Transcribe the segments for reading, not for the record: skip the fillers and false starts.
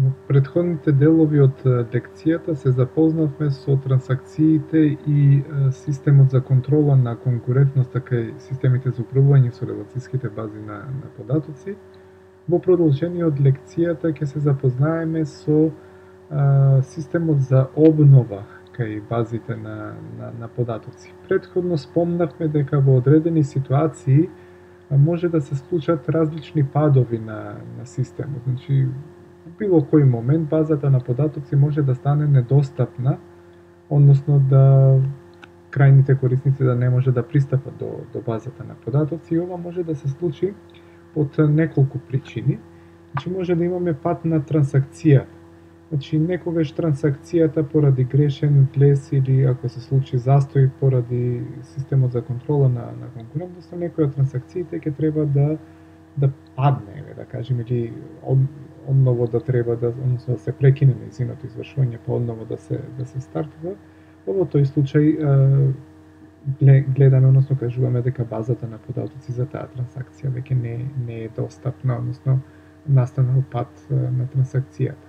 Во претходните делови од лекцијата се запознавме со трансакциите и системот за контрола на конкурентноста кај системите за управување со релацијските бази на податоци. Во продолжение од лекцијата ќе се запознаеме со системот за обнова кај базите на податоци. Претходно спомнавме дека во одредени ситуации може да се случат различни падови на системот. Значи, во било кој момент базата на податоци може да стане недостапна, односно да крајните корисници да не може да пристапат до базата на податоци, и ова може да се случи од неколку причини. Значи, може да имаме пат на трансакцијата. Значи, некогаш трансакцијата поради грешен влез или ако се случи застој поради системот за контрола на конкурентноста, некоја од трансакциите ќе треба да падне, да кажеме, или одново да треба односно да се прекине нејзиното извршување, па одново да се стартува. Во тој случај гледаме, односно кажуваме дека базата на податоци за таа трансакција веќе не е достапна, односно настанал пат на трансакцијата.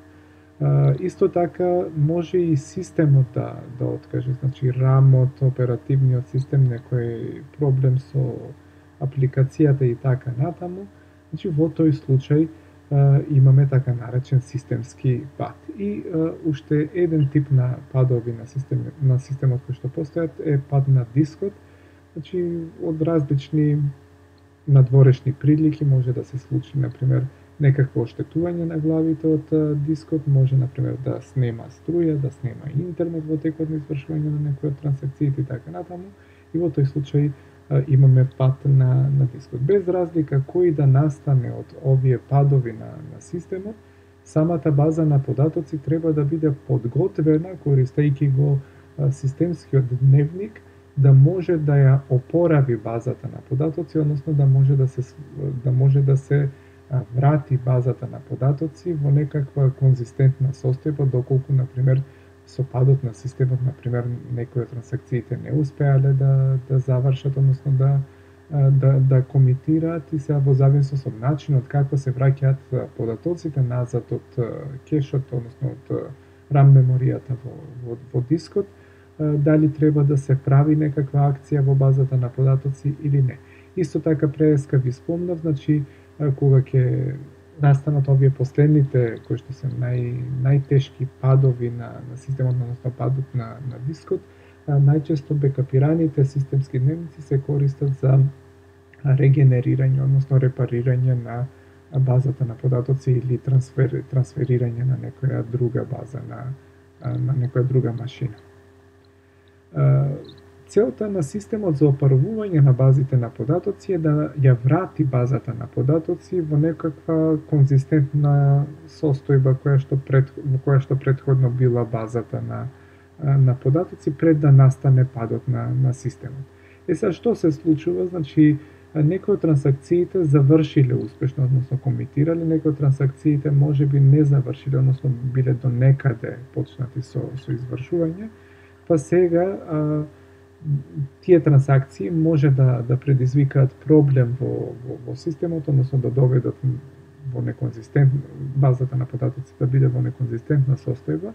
Исто така може и системот да откаже, значи рамот, оперативниот систем, некој проблем со апликацијата и така натаму. Значи во тој случај имаме така наречен системски пат. И уште еден тип на падови на системот кои што постојат е пад на дискот. Значи од различни надворешни прилики може да се случи, например, некакво оштетување на главите од дискот, може, например, да снема струја, да снема интернет во текот на извршување на некои од трансакциите и така натаму. И во тој случај имаме пат на дискот. Без разлика кој да настане од овие падови на системот, самата база на податоци треба да биде подготвена, користејќи го системскиот дневник, да може да ја опорави базата на податоци, односно да може да се врати базата на податоци во некаква конзистентна состојба, доколку, например, со падот на системот, например, некои од трансакциите не успеале да завршат, односно да комитираат, и сега во зависност од начинот како се враќаат податоците назад од кешот, односно од RAM меморијата во дискот, дали треба да се прави некаква акција во базата на податоци или не. Исто така преска ви спомнав, значи кога ќе настанат овие последните кои што се најтешки падови на системот, односно падот на дискот, најчесто бекапираните системски дневници се користат за регенерирање, односно репарирање на базата на податоци или трансферирање на некоја друга база, на некоја друга машина. Целта на системот за опарувување на базите на податоци е да ја врати базата на податоци во некаква конзистентна состојба во која што претходно била базата на податоци пред да настане падот на системот. Сега што се случува? Значи, некои од трансакциите завршиле успешно, односно комитирале, некои од трансакциите можеби не завршиле, односно биле до некаде почнати со извршување, па сега тие трансакции може да предизвикаат проблем во системот, односно да доведат во неконзистентна базата на податоци да биде во неконзистентна состојба,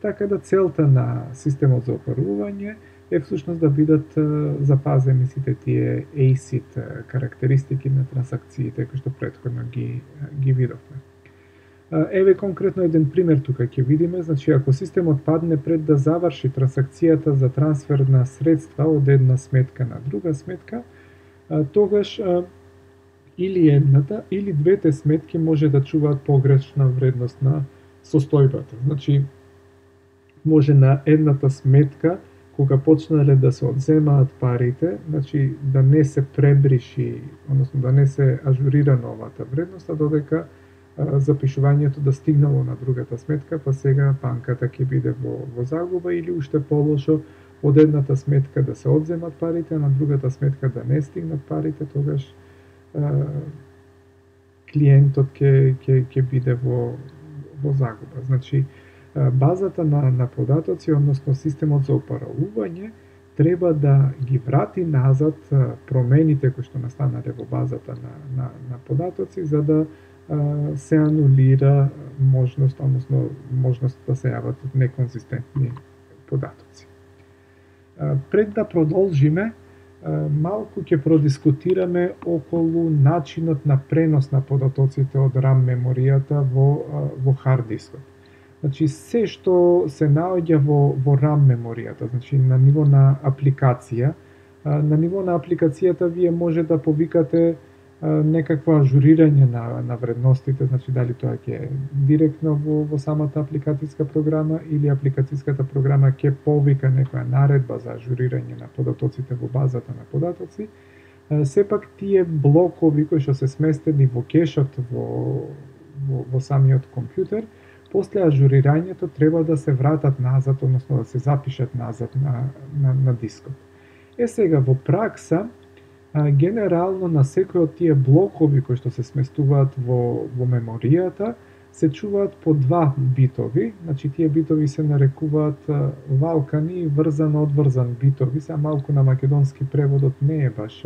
така да целта на системот за опарување е всушност да бидат запазени сите тие ACID карактеристики на трансакциите кои што претходно ги видовме. Еве конкретно еден пример тука ќе видиме, значи ако системот падне пред да заврши трансакцијата за трансфер на средства од една сметка на друга сметка, тогаш или едната или двете сметки може да чуваат погрешна вредност на состојбата. Значи може на едната сметка кога почнале да се одземаат парите, значи да не се пребриши, односно да не се ажурира новата вредност, а додека запишувањето да стигнало на другата сметка, па сега банката ќе биде во загуба, или уште полошо, од едната сметка да се одземат парите, а на другата сметка да не стигнат парите, тогаш клиентот ќе биде во загуба. Значи, базата на податоци, односно системот за опарување, треба да ги врати назад промените кои што настанале во базата на податоци, за да се анулира можност да се јават неконзистентни податоци. Пред да продолжиме, малку ќе продискутираме околу начинот на пренос на податоците од RAM меморијата во хард дискот. Значи, се што се наоѓа во RAM меморијата, значи на ниво на апликација, на ниво на апликацијата вие може да повикате некакво ажурирање на вредностите, значи дали тоа ќе директно во самата апликацијска програма или апликацијската програма ќе повика некоја наредба за ажурирање на податоците во базата на податоци. Сепак тие блокови кои што се сместени во кешот во самиот компјутер, после ажурирањето треба да се вратат назад, односно да се запишат назад на дискот. Сега во пракса генерално на секој од тие блокови кои што се сместуваат во меморијата се чуваат по 2 битови, значи тие битови се нарекуваат валкани и врзан-одврзан битови, са малку на македонски преводот не е баш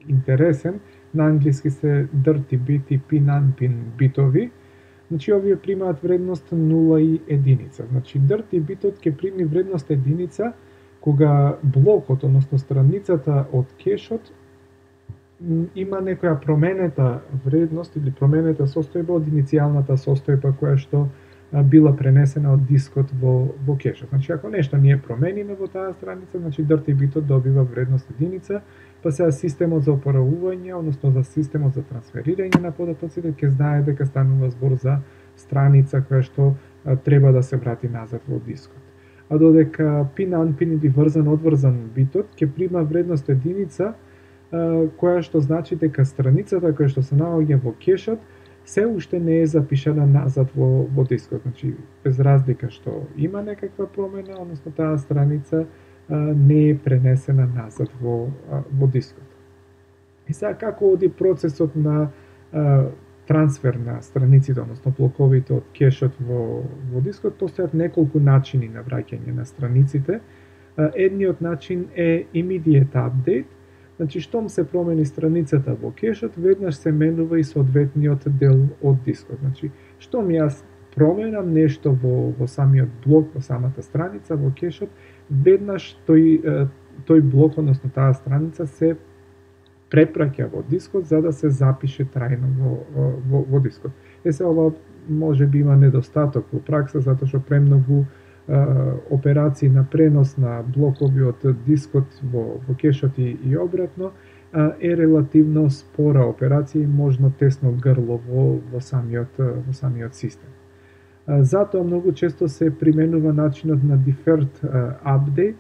интересен, на англиски се dirty bit и pin-unpin битови, значи овие примаат вредност 0 и 1, значи dirty битот ќе прими вредност 1 кога блокот, односно страницата од кешот, има некоја променета вредност или променета состојба од иницијалната состојба која што била пренесена од дискот во кешот. Значи, ако нешто ние промениме во таа страница, значи dirty битот добива вредност 1, па сега системот за опоравување, односно за системот за трансферирање на податоците, ќе знае дека станува збор за страница која што треба да се врати назад во дискот. А додека pin-unpin или врзан-одврзан битот ќе прима вредност 1, која што значи дека страницата која што се наоѓа во кешот се уште не е запишана назад во дискот. Значи, без разлика што има некаква промена, односно таа страница не е пренесена назад во дискот. И сега како оди процесот на трансфер на страниците, односно блоковите од кешот во дискот, постојат неколку начини на враќање на страниците. Едниот начин е immediate update, значи штом се промени страницата во кешот, веднаш се менува и соодветниот дел од дискот. Значи, штом јас променам нешто во самиот блок, во самата страница во кешот, веднаш тој блок, односно таа страница се препраќа во дискот за да се запише трајно во дискот. Се ова може би има недостаток во пракса, затоа што премногу операции на пренос на блокови од дискот во кешот и обратно е релативно спора операција и можно тесно грло во самиот систем. Затоа многу често се применува начинот на deferred update,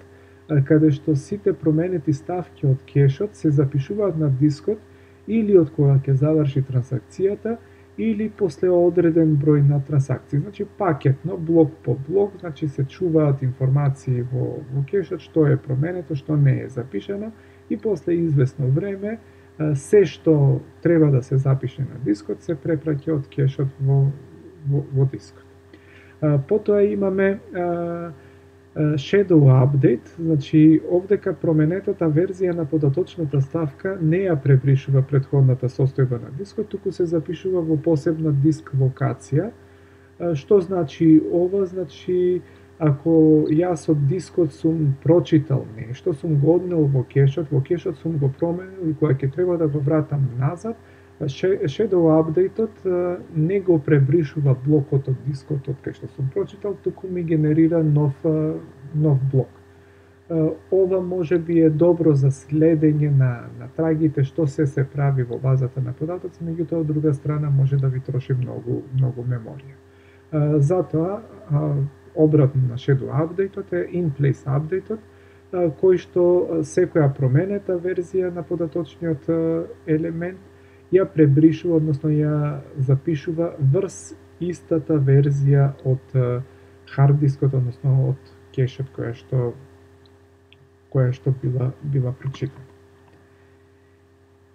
каде што сите променети ставки од кешот се запишуваат на дискот или од кога ќе заврши трансакцијата, или после одреден број на трансакции. Значи пакетно, блок по блок, значи се чуваат информации во кешот, што е променето, што не е запишано, и после известно време се што треба да се запише на дискот се препраќа од кешот во дискот. Потоа имаме shadow update, значи овдека променетата верзија на податочната ставка не ја пребришува претходната состојба на дискот, туку се запишува во посебна диск локација. Што значи ова? Значи, ако јас од дискот сум прочитал нешто, сум го однел во кешот сум го променил и кога ќе треба да го вратам назад, shadow update-от не го пребришува блокот од дискот од кај што сум прочитал, туку ми генерира нов блок. Ова може би е добро за следење на трагите што се прави во базата на податоци, меѓутоа од друга страна може да ви троши многу меморија. Затоа обратно на shadow update-от е in-place update-от, кој што секоја променета верзија на податочниот елемент ја пребришува, односно ја запишува врз истата верзија од хард дискот, односно од кешот која што била прочитана.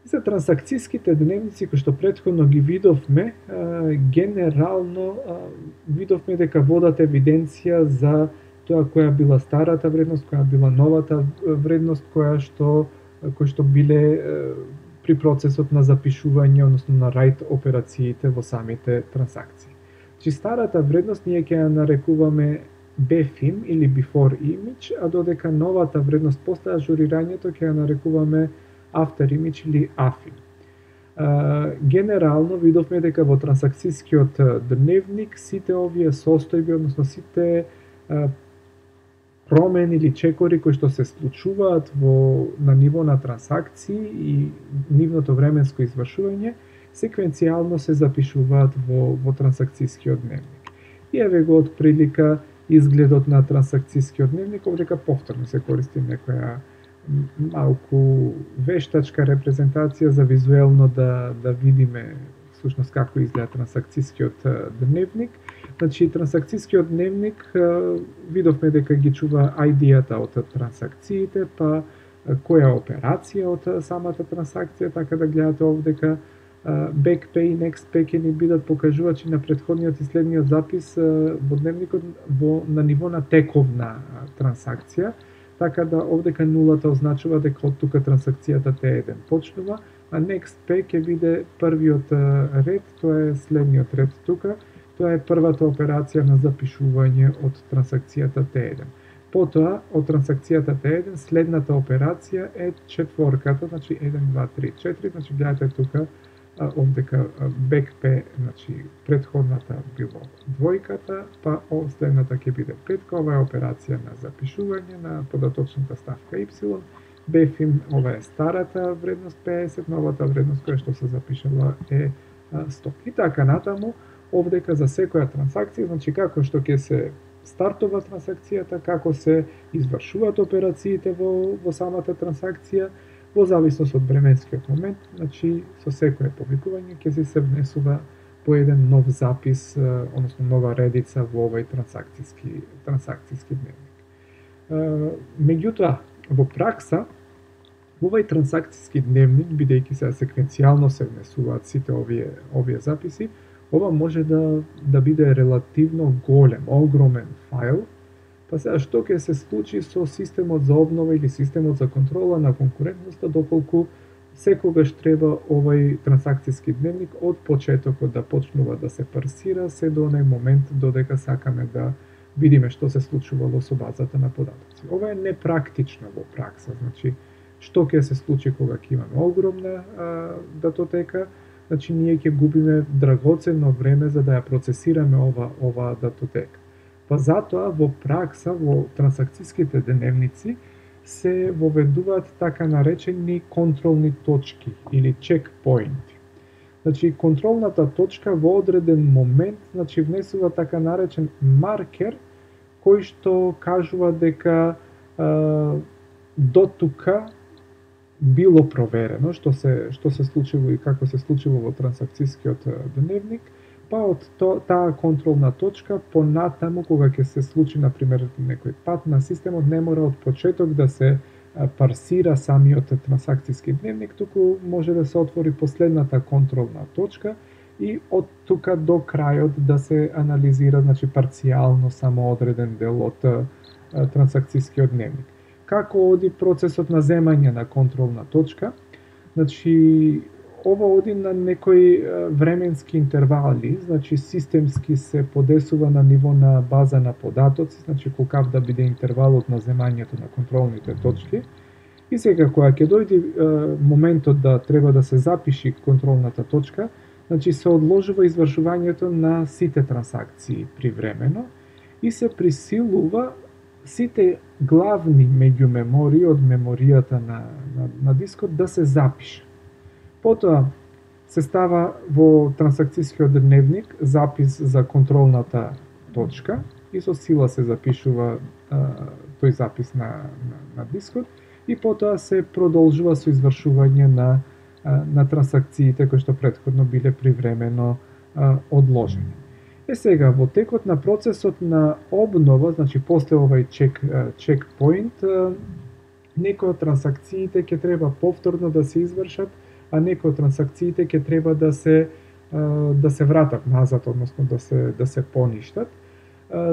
За трансакцијските дневници кои што претходно ги видовме, генерално видовме дека водат евиденција за тоа која била старата вредност, која била новата вредност, кои што биле при процесот на запишување, односно на write операциите во самите трансакции. Значи старата вредност ние ќе ја нарекуваме BFIM или before image, а додека новата вредност после ажурирањето ќе ја нарекуваме after image или AFIM. Генерално видовме дека во трансакцијскиот дневник сите овие состојби, односно сите промени или чекори кои што се случуваат на ниво на трансакции и нивното временско извршување, секвенцијално се запишуваат во трансакцијскиот дневник. И еве го од прилика изгледот на трансакцијскиот дневник, овдека повторно се користи некоја малку вештачка репрезентација за визуелно да видиме всушност како изгледа трансакцијскиот дневник. Значи трансакцијскиот дневник видовме дека ги чува ID-ата од трансакциите, па која операција од самата трансакција, така да гледате овдека BackPay и NextPay ќе ни бидат покажувачи на претходниот и следниот запис во дневникот на ниво на тековна трансакција, така да овдека нулата означува дека од тука трансакцијата T1 почнува, а NextPay ќе биде првиот ред, тоа е следниот ред тука, тоа е првата операција на запишување од трансакцијата T1. Потоа, од трансакцијата T1, следната операција е четворката, значи 1, 2, 3, 4, значи гледате тука, овдека BackPay, значи претходната било двојката, па следната ќе биде петка, ова е операција на запишување на податочната ставка Y, BFIM, ова е старата вредност 50, новата вредност која што се запишала е 100. И така натаму, овдека за секоја трансакција, значи како што ќе се стартува трансакцијата, како се извршуваат операциите во самата трансакција, во зависност од временскиот момент, значи со секое повикување ќе се внесува по еден нов запис, односно нова редица во овој трансакцијски дневник. Меѓутоа, во пракса, овој трансакцијски дневник, бидејќи се секвенцијално се внесуваат сите овие записи, ова може да биде релативно голем, огромен файл. Па сега што ќе се случи со системот за обнова или системот за контрола на конкурентноста, доколку секогаш треба овој трансакцијски дневник од почетокот да почнува да се парсира се до онај момент додека сакаме да видиме што се случувало со базата на податоци. Ова е непрактично во пракса, значи што ќе се случи кога ќе имаме огромна датотека, значи ние ќе губиме драгоценно време за да ја процесираме ова датотека. Па затоа во пракса, во трансакцијските дневници, се воведуваат така наречени контролни точки или чекпоинти. Значи, контролната точка во одреден момент, значи, внесува така наречен маркер, кој што кажува дека до тука било проверено, што се случило и како се случило во трансакцијскиот дневник, па од таа контролна точка понатаму кога ќе се случи на пример некој пат на системот, не мора од почеток да се парсира самиот трансакцијски дневник, туку може да се отвори последната контролна точка и од тука до крајот да се анализира, значи парцијално само одреден дел од трансакцијскиот дневник. Како оди процесот на земање на контролна точка? Значи ова оди на некои временски интервали, значи системски се подесува на ниво на база на податоци, значи колкав да биде интервалот на земањето на контролните точки. И сега кога ќе дојде моментот да треба да се запиши контролната точка, значи се одложува извршувањето на сите трансакции привремено и се присилува сите главни меѓумемории од меморијата на дискот да се запише. Потоа се става во трансакцијскиот дневник запис за контролната точка и со сила се запишува тој запис на дискот и потоа се продолжува со извршување на трансакциите кои што претходно биле привремено одложени. Сега, во текот на процесот на обнова, значи после овај чекпоинт, некои од трансакциите ќе треба повторно да се извршат, а некои од трансакциите ќе треба да се вратат назад, односно да се поништат.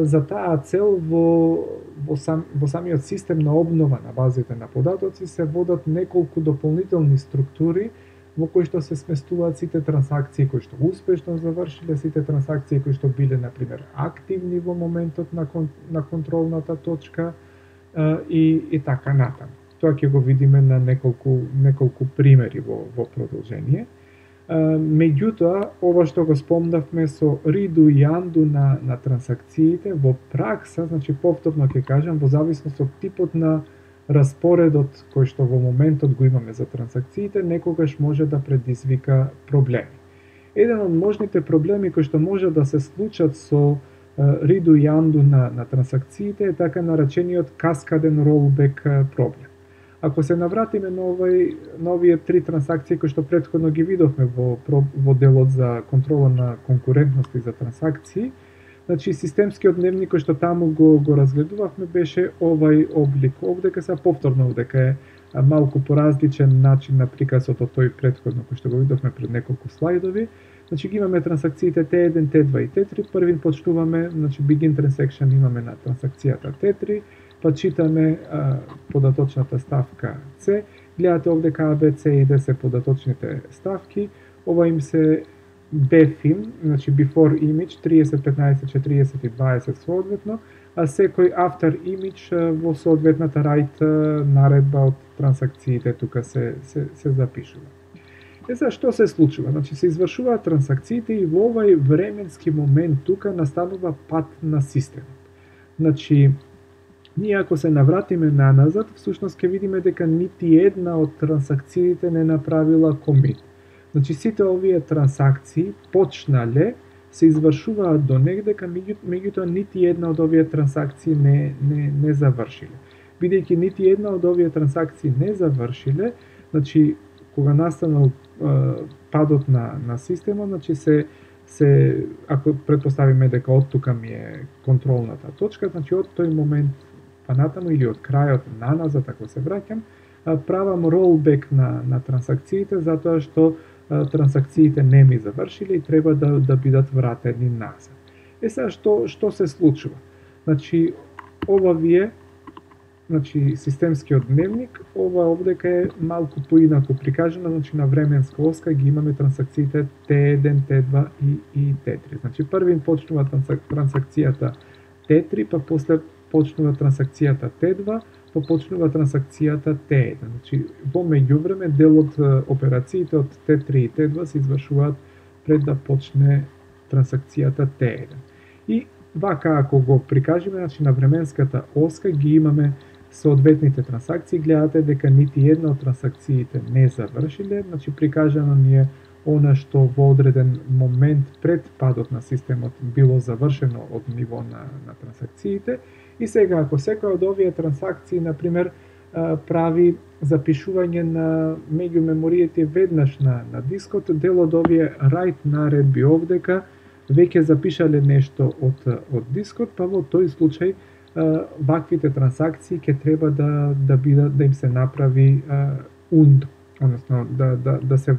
За таа цел во самиот систем на обнова на базите на податоци се водат неколку дополнителни структури во кој што се сместуваат сите трансакции кои што успешно завршиле, сите трансакции кои што биле на пример активни во моментот на контролната точка и така натаму. Тоа ќе го видиме на неколку примери во продолжение. Меѓутоа, ова што го спомнавме со риду и анду на трансакциите, во пракса, значи повторно ќе кажам, во зависност од типот на распоредот кој што во моментот го имаме за трансакциите, некогаш може да предизвика проблеми. Еден од можните проблеми кои што може да се случат со риду и анду на трансакциите е така наречениот каскаден ролбек проблем. Ако се навратиме на овие три трансакции кои што претходно ги видовме во делот за контрола на конкурентност и за трансакции, значи системскиот дневник кој што таму го разгледувавме беше овај облик. Овдека се повторно овдека е малку поразличен начин на приказот од тој претходно кој што го видовме пред неколку слайдови. Значи ги имаме трансакциите T1, T2 и T3. Првин почнуваме, значи begin transaction имаме на трансакцијата T3, па читаме податочната ставка C. Гледате овдека A, B, C и D се податочните ставки. Ова им се BFIM, значи before image 30, 15, 40 и 20 соодветно, а секој after image во соодветната right наредба од трансакциите тука се запишува. Сега што се случува? Значи се извршуваат трансакциите и во овај временски момент тука настанува пат на системот. Значи ние ако се навратиме наназад, всушност ќе видиме дека нити една од трансакциите не направила комит. Значи сите овие трансакции почнале, се извршуваат до негдека, меѓутоа нити една од овие трансакции не завршиле. Бидејќи нити една од овие трансакции не завршиле, значи кога настанал падот на системот, значи се ако претпоставиме дека од тука ми е контролната точка, значи од тој момент па натаму или од крајот наназад ако се враќам, правам ролбек на трансакциите затоа што трансакциите не ми завршиле и треба да бидат вратени назад. Сега што се случува? Значи ова вие, значи системскиот дневник, ова овдека е малку поинаку прикажано, значи на временска оска ги имаме трансакциите T1, T2 и T3. Значи првин почнува трансакцијата T3, па после почнува трансакцијата T2, па почнува трансакцијата T1. Значи во меѓувреме дел од операциите од T3 и T2 се извршуваат пред да почне трансакцијата T1. И вака ако го прикажеме, значи на временската оска ги имаме соодветните трансакции, гледате дека нити една од трансакциите не завршиле, значи прикажано ни е она што во одреден момент пред падот на системот било завршено од ниво на трансакциите. И сега, ако секоја од овие трансакции, например, прави запишување на меѓу мемориите веднаш на дискот, дел од овие write наредби овдека веќе запишале нешто од дискот, па во тој случај ваквите трансакции ќе треба да им се направи undo, односно да се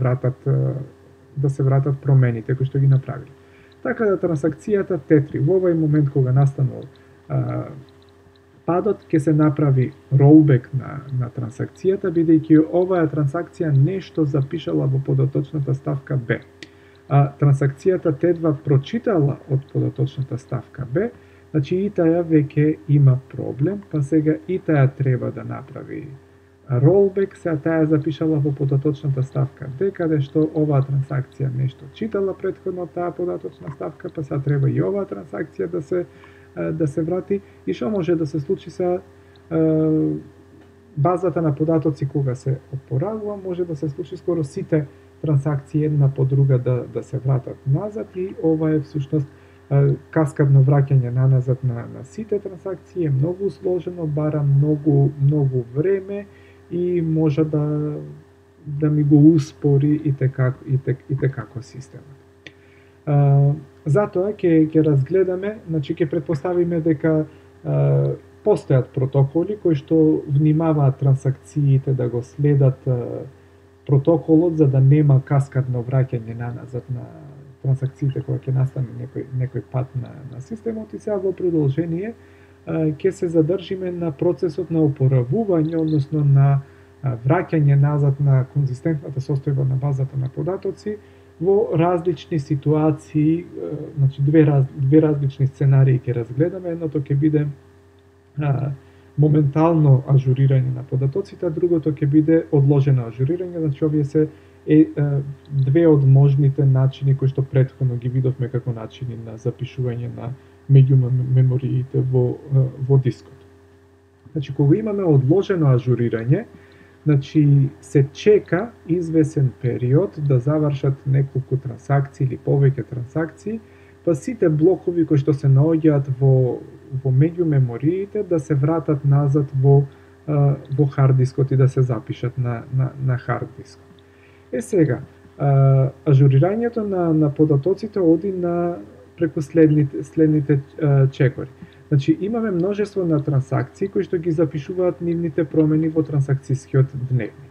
вратат промените кои што ги направиле. Така да трансакцијата T3 во овој момент кога настанал падот ќе се направи rollback на трансакцијата, бидејќи оваа трансакција нешто запишала во податочната ставка B. А трансакцијата T2 прочитала од податочната ставка B, значи и таја веќе има проблем, па сега и таја треба да направи rollback, сега таја запишала во податочната ставка D, каде што оваа трансакција нешто читала претходно таа податочна ставка, па сега треба и оваа трансакција да се врати. И што може да се случи са базата на податоци кога се опорагува, може да се случи скоро сите трансакции една по друга да се вратат назад и ова е всушност каскадно враќање назад на сите трансакции е многу сложено, бара многу време и може да ми го успори и текако системот. Затоа ќе разгледаме, значи ќе претпоставиме дека постојат протоколи кои што внимаваат трансакциите да го следат протоколот за да нема каскадно враќање назад на трансакциите кога ќе настане некој пат на системот и сега во продолжение ќе се задржиме на процесот на опоравување, односно на враќање назад на конзистентната состојба на базата на податоци во различни ситуации, значи две различни сценарии ќе разгледаме. Едното ќе биде моментално ажурирање на податоците, а другото ќе биде одложено ажурирање. Значи овие се две од можните начини кои што претходно ги видовме како начини на запишување на меѓумемориите во дискот. Значи кога имаме одложено ажурирање, значи се чека извесен период да завршат неколку трансакции или повеќе трансакции, па сите блокови кои што се наоѓаат во меѓумемориите да се вратат назад во хард дискот и да се запишат на хард дискот. Сега, ажурирањето на податоците оди преку следните чекори. Значи, имаме множество на трансакции кои што ги запишуваат нивните промени во трансакцијскиот дневник.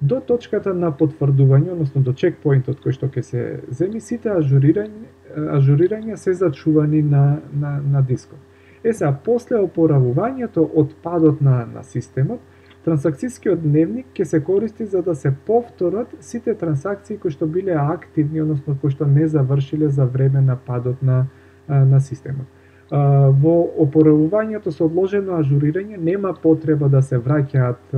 До точката на потврдување, односно до чекпоинтот кој што ќе се земи, сите ажурирања се зачувани на дискот. Сега, после опоравувањето од падот на системот, трансакцијскиот дневник ќе се користи за да се повторат сите трансакции кои што биле активни, односно кои што не завршиле за време на падот на системот. Во опоравувањето со одложено ажурирање нема потреба да се враќаат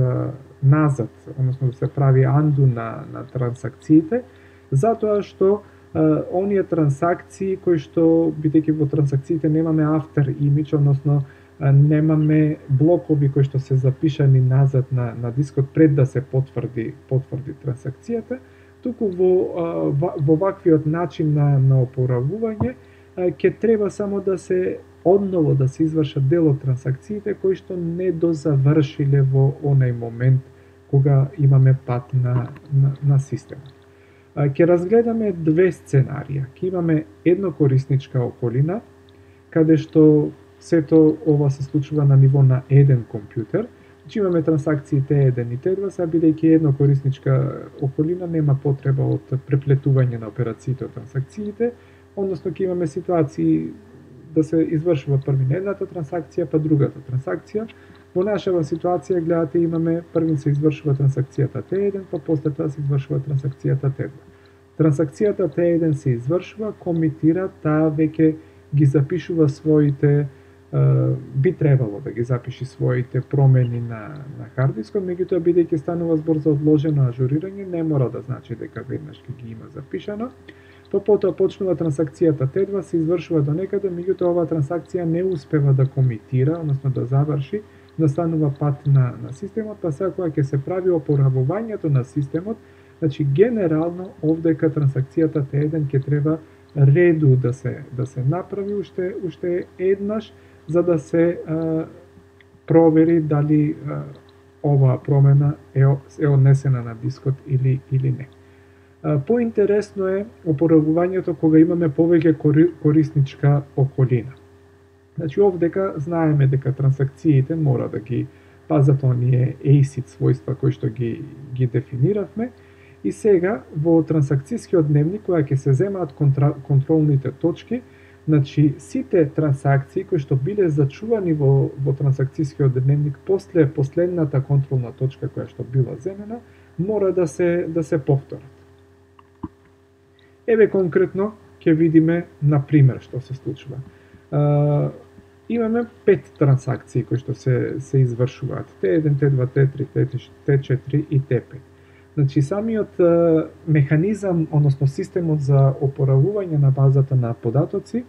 назад, односно да се прави анду на трансакциите, затоа што оние трансакции кои што, бидејќи во трансакциите немаме after image, односно немаме блокови кои што се запишани назад на дискот пред да се потврди трансакцијата, туку во ваквиот начин на опоравување ќе треба само да се одново да се извршат дел од трансакциите кои што не дозавршиле во онај момент кога имаме пат на системот. Ќе разгледаме две сценарија. Ќе имаме еднокорисничка околина, каде што сето ова се случува на ниво на еден компјутер. Значи имаме трансакции T1 и T2, сега бидејќи еднокорисничка околина нема потреба од преплетување на операциите од трансакциите, односно ќе имаме ситуации да се извршува први на едната трансакција, па другата трансакција. Во нашава ситуација, гледате, имаме првин се извршува трансакцијата T1, па после тоа се извршува трансакцијата T2. Трансакцијата T1 се извршува, комитира, таа веќе ги запишува своите, би требало да ги запиши своите промени на хард дискот, меѓутоа бидејќи станува збор за одложено ажурирање, не мора да значи дека веднаш ги има запишано. Потоа почнува трансакцијата T2, се извршува до некаде, меѓутоа оваа трансакција не успева да комитира, односно да заврши, настанува пат на системот, па сега кога ќе се прави опоравувањето на системот, значи генерално овдека трансакцијата T1 ќе треба реду да се направи уште еднаш, за да се провери дали оваа промена е однесена на дискот или не. Поинтересно е опоравувањето кога имаме повеќе корисничка околина. Значи овдека знаеме дека трансакциите мора да ги пазат оние ACID својства кои што ги дефиниравме, и сега во трансакцијскиот дневник кога ќе се земаат контролните точки, значи сите трансакции кои што биле зачувани во трансакцијскиот дневник после последната контролна точка која што била земена, мора да се повторат. Еве конкретно ќе видиме на пример што се случува. Имаме 5 трансакции кои што се извршуваат. T1, T2, T3, T4 и T5. Значи самиот механизам, односно системот за опоравување на базата на податоци,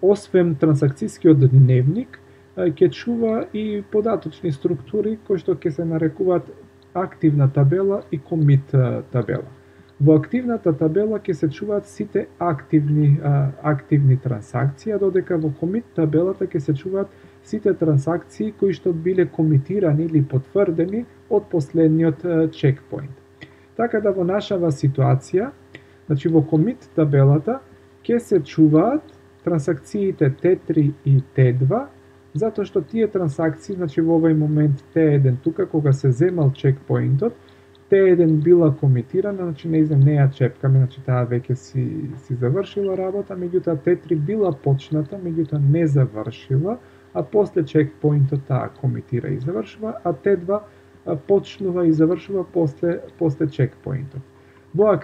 освен трансакцијскиот дневник, ќе чува и податочни структури кои што ќе се нарекуваат активна табела и комит табела. Во активната табела ќе се чуваат сите активни трансакции, а додека во комит табелата ќе се чуваат сите трансакции кои што биле комитирани или потврдени од последниот чекпоинт. Така да во нашава ситуација, значи во комит табелата ќе се чуваат трансакциите T3 и T2, затоа што тие трансакции, значи во овој момент T1 тука кога се земал чекпоинтот, T1 била комитирана, значи не ја чепкаме, значи таа веќе си завршила работа, меѓутоа T3 била почната, меѓутоа не завршила, а после чекпоинтот таа комитира и завршува, а T2 почнува и завршува после чекпоинтот. Во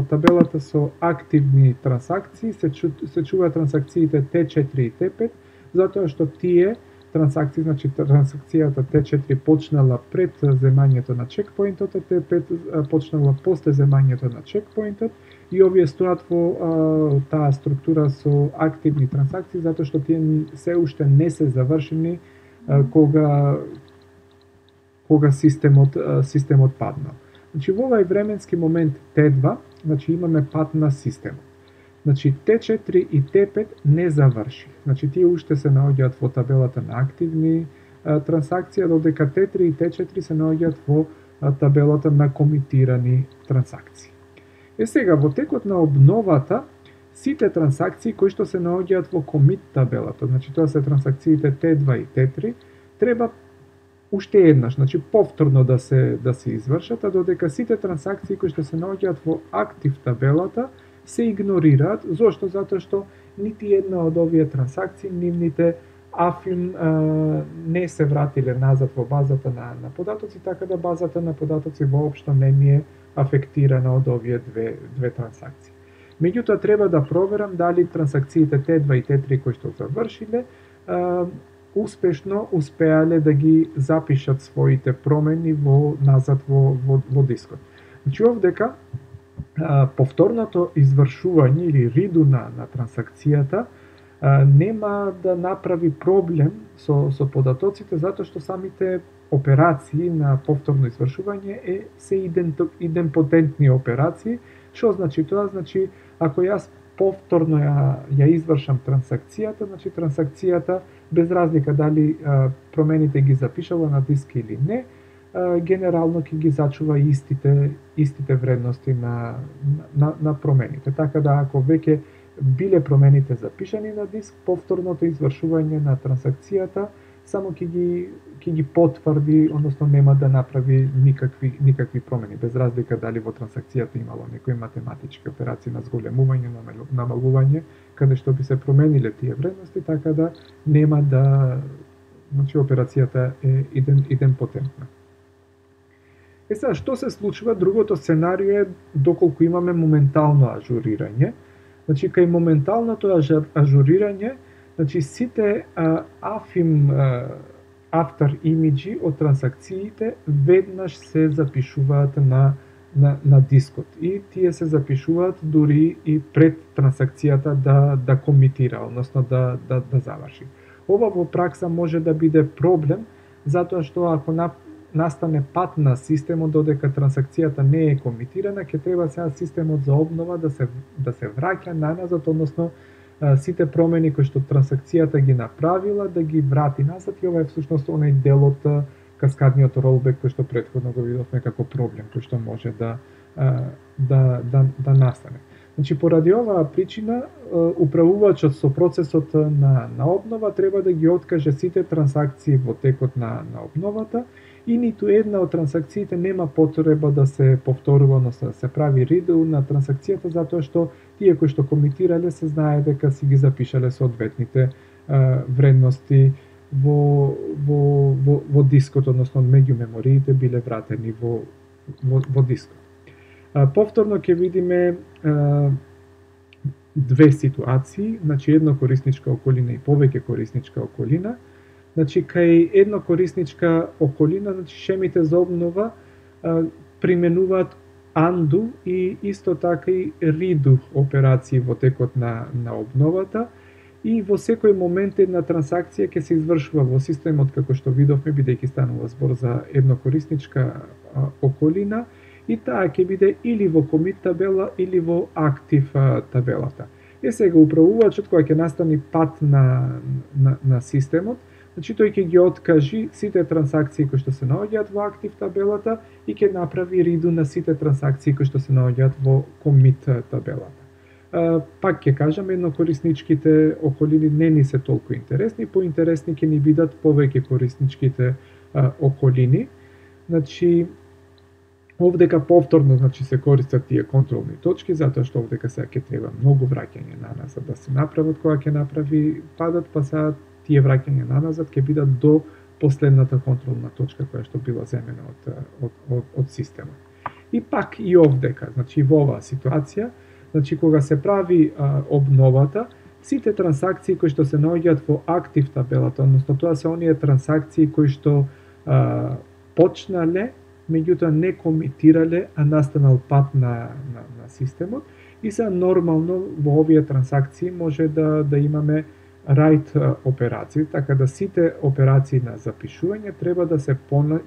табелата со активни трансакции се чуваат трансакциите Т4 и Т5, затоа што тие трансакции, значи трансакцијата Т4 почнала пред земањето на чекпоинтот, а Т5 почнала после земањето на чекпоинтот, и овие стоат во таа структура со активни трансакции, затоа што тие се уште не се завршени кога системот паднал. Значи во овај временски момент Т2, значи имаме пат на системот. Значи Т4 и Т5 не заврши. Значи тие уште се наоѓаат во табелата на активни трансакции, додека Т3 и Т4 се наоѓаат во табелата на комитирани трансакции. Сега во текот на обновата, сите трансакции кои што се наоѓаат во комит табелата, значи тоа се трансакциите Т2 и Т3, треба уште еднаш, значи повторно да се извршат, а додека сите трансакции кои што се наоѓаат во актив табелата се игнорираат. Зошто? Затоа што нити една од овие трансакции, нивните афин не се вратиле назад во базата на податоци, така да базата на податоци воопшто не ми е афектирана од овие две трансакции. Меѓутоа треба да проверам дали трансакциите Т2 и Т3 кои што завршиле успешно успеале да ги запишат своите промени назад во дискот. Значи овдека повторното извршување или риду на трансакцијата нема да направи проблем со податоците, затоа што самите операции на повторно извршување се идемпотентни операции. Што значи тоа? Значи, ако јас повторно ја извршам трансакцијата, значи трансакцијата без разлика дали промените ги запишала на диск или не, генерално ќе ги зачува истите вредности на промените. Така да ако веќе биле промените запишани на диск, повторното извршување на трансакцијата само ќе ги потврди, односно нема да направи никакви промени, без разлика дали во трансакцијата имало некои математички операции на зголемување, намалување, каде што би се промениле тие вредности, така да нема да, значи операцијата е идемпотентна. Сега, што се случува? Другото сценарио е доколку имаме моментално ажурирање. Значи, кај моменталното ажурирање, значи сите after имиджи од трансакциите веднаш се запишуваат на дискот и тие се запишуваат дури и пред трансакцијата да комитира, односно да заврши. Ова во пракса може да биде проблем, затоа што ако настане пат на системот додека трансакцијата не е комитирана, ќе треба сега системот за обнова да се враќа наназад, односно сите промени кои што трансакцијата ги направила да ги врати назад, и ова е всушност онај дел од каскадниот ролбек кој што претходно го видовме како проблем кој што може да настане. Значи, поради оваа причина, управувачот со процесот на обнова треба да ги откаже сите трансакции во текот на обновата и ниту една од трансакциите нема потреба да се повторува, односно да се прави redo на трансакцијата, затоа што тие кои што комитирале се знае дека си ги запишале соодветните вредности во дискот, односно меѓу мемориите биле вратени во дискот. Повторно ќе видиме две ситуации, значи едно корисничка околина и повеќе корисничка околина. Значи, кај едно корисничка околина, значи шемите за обнова применуваат undo и исто така и redo операции во текот на обновата, и во секој момент една трансакција ќе се извршува во системот, како што видовме, бидејќи станува збор за едно корисничка околина, и таа ќе биде или во commit табела или во актив табелата. Сега управувачот кога ќе настани пат на системот, значи тој ќе ги откажи сите трансакции кои што се наоѓаат во актив табелата и ќе направи redo на сите трансакции кои што се наоѓаат во commit табелата. Пак ќе кажам, еднокорисничките околини не ни се толку интересни, поинтересни ќе ни бидат повеќе корисничките околини. Значи, овдека повторно се користат тие контролни точки, затоа што овдека сега ќе треба многу враќање наназад да се направат кога ќе направи падот, па сега тие враќање наназад ќе бидат до последната контролна точка која што била земена од системот. И пак и овдека, значи во оваа ситуација, значи кога се прави обновата, сите трансакции кои што се наоѓаат во актив табелата, односно тоа се оние трансакции кои што почнале, меѓутоа не комитирале, а настанал пат на системот, и се нормално во овие трансакции може да имаме write операции, така да сите операции на запишување треба да се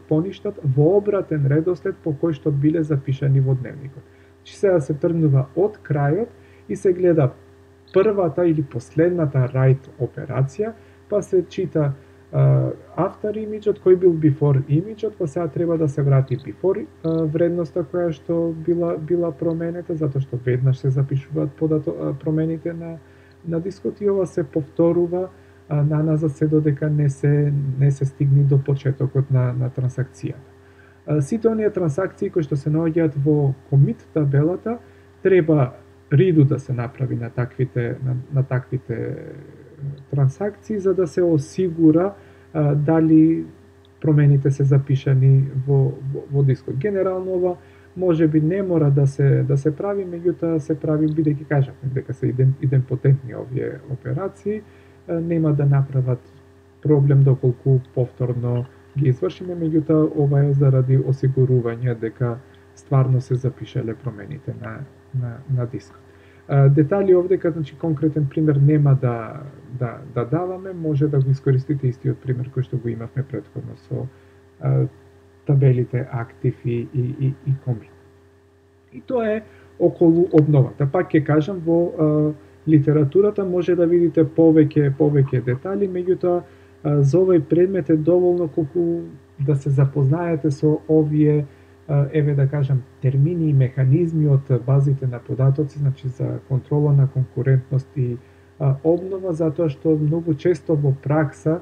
поништат во обратен редослед по кој што биле запишани во дневникот. Значи сега се тргнува од крајот и се гледа првата или последната write операција, па се чита after image-от, кој бил before image-от, па сега треба да се врати before вредноста која што била променета, затоа што веднаш се запишуваат промените на дискот и ова се повторува наназад се додека не се стигне до почетокот на трансакцијата. Сите оние трансакции кои што се наоѓаат во commit табелата треба redo да се направи на таквите трансакции за да се осигура дали промените се запишани во дискот. Генерално ова може би не мора да се прави, меѓутоа се прави бидејќи кажавме дека се идемпотентни овие операции, нема да направат проблем доколку повторно ги извршиме, меѓутоа ова е заради осигурување дека стварно се запишале промените на дискот. Детали овдека, значи конкретен пример нема да даваме, може да го искористите истиот пример кој што го имавме претходно со табелите актив и commit. И тоа е околу обновата. Пак ќе кажам, во литературата може да видите повеќе детали, меѓутоа за овој предмет е доволно колку да се запознаете со овие еве да кажам термини и механизми од базите на податоци, значи за контрола на конкурентност и обнова, затоа што многу често во пракса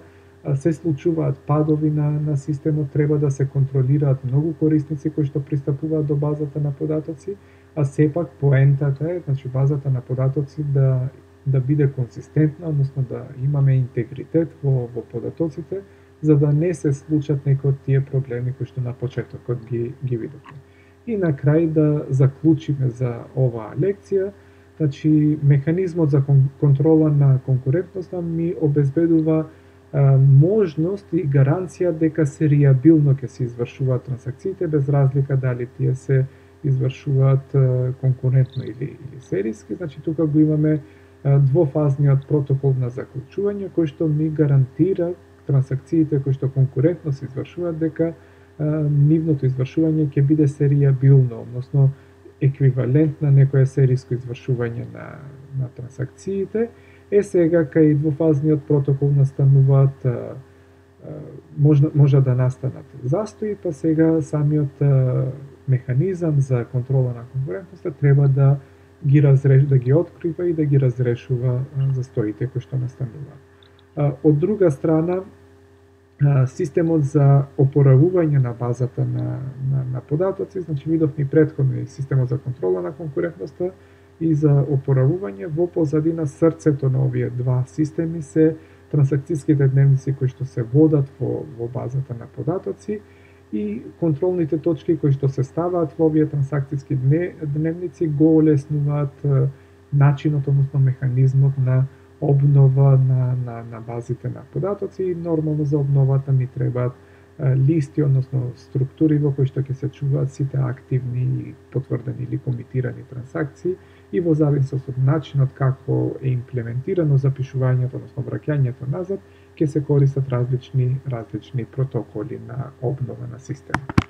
се случуваат падови на системот, треба да се контролираат многу корисници кои што пристапуваат до базата на податоци, а сепак поентата е, значи базата на податоци да биде консистентна, односно да имаме интегритет во податоците, за да не се случат некои од тие проблеми кои што на почетокот ги видовме. И на крај да заклучиме за оваа лекција, значи механизмот за контрола на конкурентноста ми обезбедува можност и гаранција дека серијабилно ќе се извршуваат трансакциите без разлика дали тие се извршуваат конкурентно или серијски. Значи тука го имаме двофазниот протокол на заклучување кој што ми гарантира трансакциите кои што конкурентно се извршуваат дека нивното извршување ќе биде серијабилно, односно еквивалент на некое серијско извршување на трансакциите. Сега кај двофазниот протокол настануваат може да настанат застои, па сега самиот механизам за контрола на конкурентноста треба да ги открива и да ги разрешува застоите кои што настануваат. Од друга страна, системот за опоравување на базата на податоци, значи видовме претходно и системот за контрола на конкурентноста и за опоравување, во позадина срцето на овие два системи се трансакцијските дневници кои што се водат во базата на податоци и контролните точки кои што се ставаат во овие трансакцијски дневници го олеснуваат начинот, односно механизмот на обнова на базите на податоци и нормално за обновата ни требаат листи, односно структури во кои што ќе се чуваат сите активни, потврдени или комитирани трансакции и во зависност од начинот како е имплементирано запишувањето, односно враќањето назад, ќе се користат различни протоколи на обнова на системот.